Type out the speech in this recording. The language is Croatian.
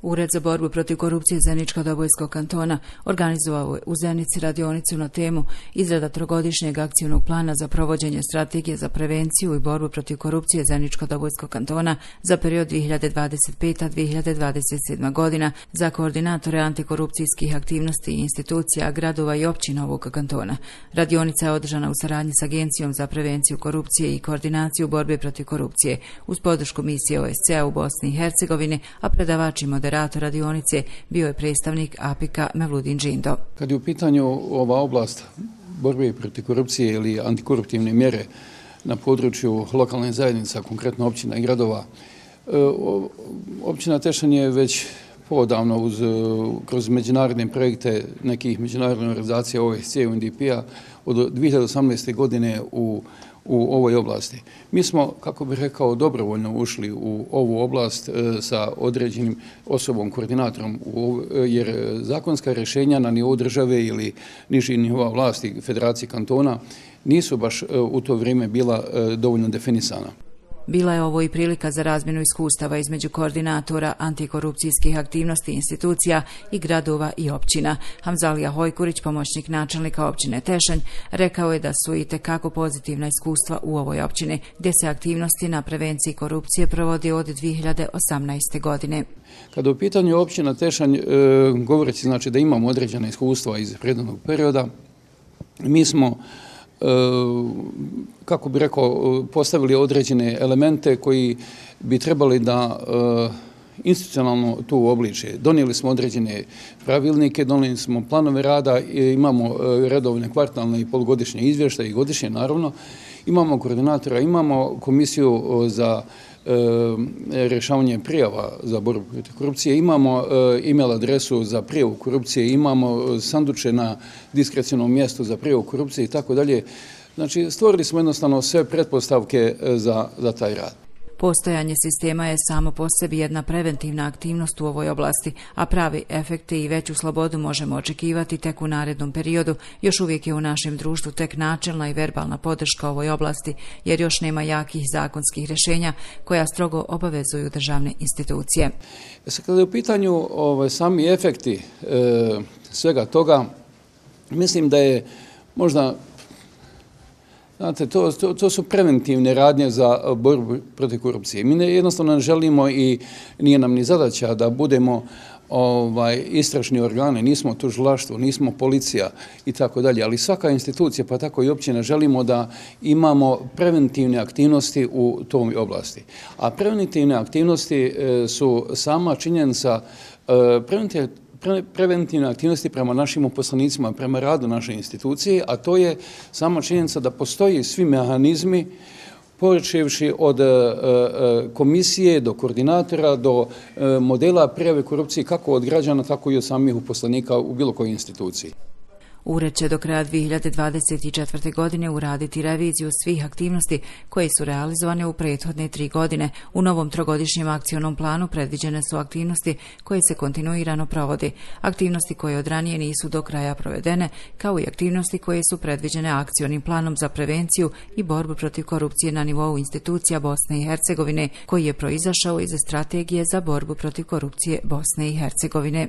Ured za borbu protiv korupcije Zeničko-Dobojskog kantona organizovao je u Zenici radionicu na temu izrada trogodišnjeg akcijnog plana za provođenje strategije za prevenciju i borbu protiv korupcije Zeničko-Dobojskog kantona za period 2025-2027 godina za koordinatore antikorupcijskih aktivnosti i institucija, gradova i općina ovog kantona. Radionica je održana u saradnji s Agencijom za prevenciju korupcije i koordinaciju borbe protiv korupcije uz podršku misije OSCE u Bosni i Hercegovini, a predavač i moderator radionice bio je predstavnik APIK-a Mevludin Džindo. Kad je u pitanju ova oblast borbe protiv korupcije ili antikoruptivne mjere na području lokalne zajednica, konkretno općina i gradova, općina Tešanj je već podavno kroz međunarodne projekte nekih međunarodnih organizacija OSCE i UNDP-a od 2018. godine u ovoj oblasti. Mi smo, kako bih rekao, dobrovoljno ušli u ovu oblast sa određenim osobom, koordinatorom, jer zakonska rješenja na nivou države ili nižih nivoa vlasti Federacije kantona nisu baš u to vrijeme bila dovoljno definisana. Bila je ovo i prilika za razmjenu iskustava između koordinatora antikorupcijskih aktivnosti institucija i gradova i općina. Hamzalija Hojkurić, pomoćnik načelnika općine Tešanj, rekao je da su itekako pozitivna iskustva u ovoj općini, gdje se aktivnosti na prevenciji korupcije provode od 2018. godine. Kada u pitanju općina Tešanj, govoreći znači da imamo određena iskustva iz prethodnog perioda, mi smo kako bi rekao, postavili određene elemente koji bi trebali da institucionalno tu uobliče. Donijeli smo određene pravilnike, donijeli smo planove rada, imamo redovne kvartalne i polugodišnje izvještaje i godišnje naravno. Imamo koordinatora, imamo komisiju za rješavanje prijava za borbu protiv korupcije, imamo e-mail adresu za prijavu korupcije, imamo sanduče na diskrecionom mjestu za prijavu korupcije i tako dalje. Znači, stvorili smo jednostavno sve pretpostavke za taj rad. Postojanje sistema je samo po sebi jedna preventivna aktivnost u ovoj oblasti, a pravi efekte i veću slobodu možemo očekivati tek u narednom periodu. Još uvijek je u našem društvu tek načelna i verbalna podrška ovoj oblasti, jer još nema jakih zakonskih rješenja koja strogo obavezuju državne institucije. Kada je u pitanju sami efekti svega toga, mislim da je možda, znate, to su preventivne radnje za borbu protiv korupcije. Mi jednostavno ne želimo i nije nam ni zadaća da budemo istražni organe, nismo tužilaštvo, nismo policija i tako dalje, ali svaka institucija, pa tako i općina, želimo da imamo preventivne aktivnosti u toj oblasti. A preventivne aktivnosti su sama činjenica, preventivne aktivnosti prema našim uposlenicima, prema radu naše institucije, a to je sama činjenica da postoji svi mehanizmi, počevši od komisije do koordinatora, do modela prijave korupcije kako od građana, tako i od samih uposlenika u bilo kojoj instituciji. Ured će do kraja 2024. godine uraditi reviziju svih aktivnosti koje su realizovane u prethodne 3 godine. U novom trogodišnjem akcionom planu predviđene su aktivnosti koje se kontinuirano provode, aktivnosti koje od ranije nisu do kraja provedene, kao i aktivnosti koje su predviđene akcionim planom za prevenciju i borbu protiv korupcije na nivou institucija Bosne i Hercegovine, koji je proizašao iz strategije za borbu protiv korupcije Bosne i Hercegovine.